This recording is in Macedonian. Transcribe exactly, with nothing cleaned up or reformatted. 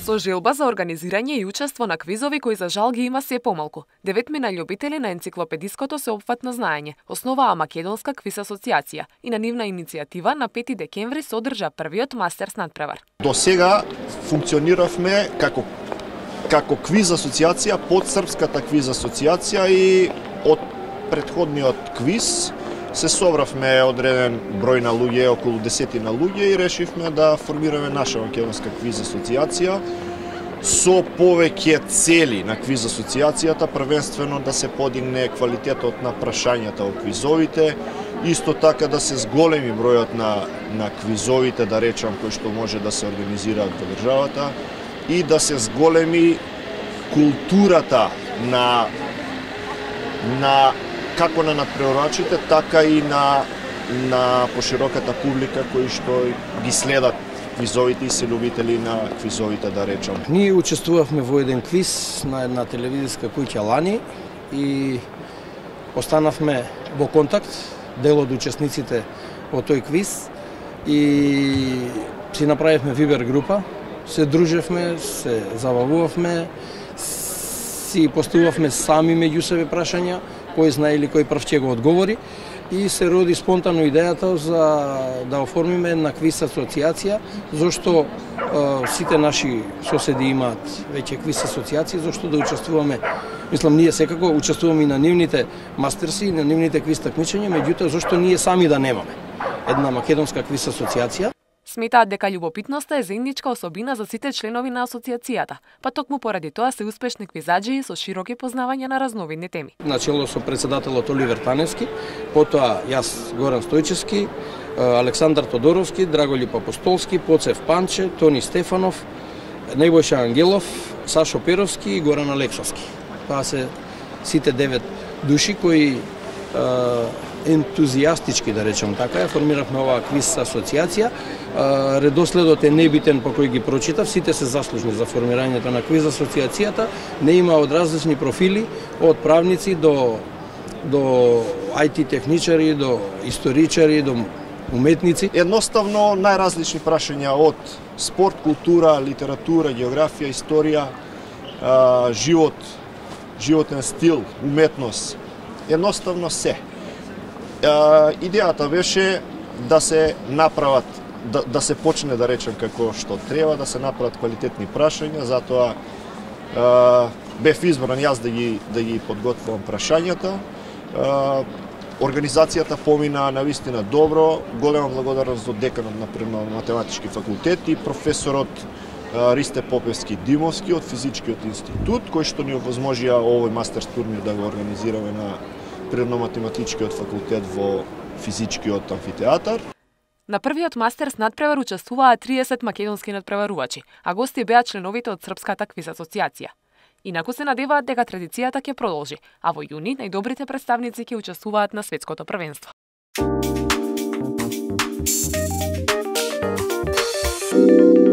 Со желба за организирање и учество на квизови кои за жал ги има се помалку, деветмина љубители на енциклопедиското сеопфатно знаење основаа Македонска квиз асоциација и на нивна иницијатива на пети декември се одржа првиот мастерс надпревар. До сега функциониравме како како квиз асоциација под Српската квиз асоциација и од претходниот квиз се собравме одреден број на луѓе, околу десетина луѓе, и решивме да формираме наша Македонска квиз асоциација со повеќе цели на квиз асоциацијата, првенствено да се подигне квалитетот на прашањата во квизовите, исто така да се зголеми бројот на на квизовите, да речам, кои што може да се организираат во државата, и да се зголеми културата на на како на надпреварачите, така и на на пошироката публика кои што ги следат квизовите и се љубители на квизовите, да речам. Ние учествувавме во еден квиз на една телевизиска куќа лани и останавме во контакт, дел од учесниците во тој квиз, и си направивме вибер група, се дружевме, се забавувавме, си поставувавме сами меѓу себе прашања, кој знае или кој прв ќе го одговори, и се роди спонтано идејата за да оформиме една квиз асоциација, зашто е, сите наши соседи имаат веќе квиз асоциации, зашто да учествуваме. Мислам, ние секако учествуваме и на нивните мастерси, и на нивните квиз такмичења, меѓутоа зашто ние сами да немаме една Македонска квиз асоциација. Сметаат дека љубопитноста е заедничка особина за сите членови на асоциацијата, па токму поради тоа се успешни квизаџи со широки познавања на разновидни теми. Начело со председателот Оливер Таневски, потоа јас Горан Стојчевски, Александар Тодоровски, Драголип Апостолски, Поцев Панче, Тони Стефанов, Небојша Ангелов, Сашо Перовски и Горан Алексовски. Тоа се сите девет души кои ентузијастички, да речем така, ја формиравме оваа квиз асоциација. Редоследот е небитен по кој ги прочитав, сите се заслужни за формирањето на квиз асоциацијата. Не има од различни профили, од правници до до ај ти техничари, до историчари, до уметници. Едноставно најразлични прашања од спорт, култура, литература, географија, историја, живот, животен стил, уметност. Едноставно се. Идејата беше да се направат, да, да се почне, да речем, како што треба, да се направат квалитетни прашања, затоа е, бев избран јас да ги, да ги подготвувам прашањата. Е, Организацијата помина навистина добро, голема благодарност до деканот на Природно-математички факултет и професорот е, Ристе Попевски Димовски од Физичкиот институт, кој што ни овозможија овој мастерс турнир да го организираме на Природно-математичкиот факултет во Физичкиот амфитеатар. На првиот мастерс надпревар учествуваа триесет македонски надпреварувачи, а гости беа членовите од Српската квиз асоциација. Инаку се надеваат дека традицијата ќе продолжи, а во јуни најдобрите представници ќе учествуваат на светското првенство. Thank you.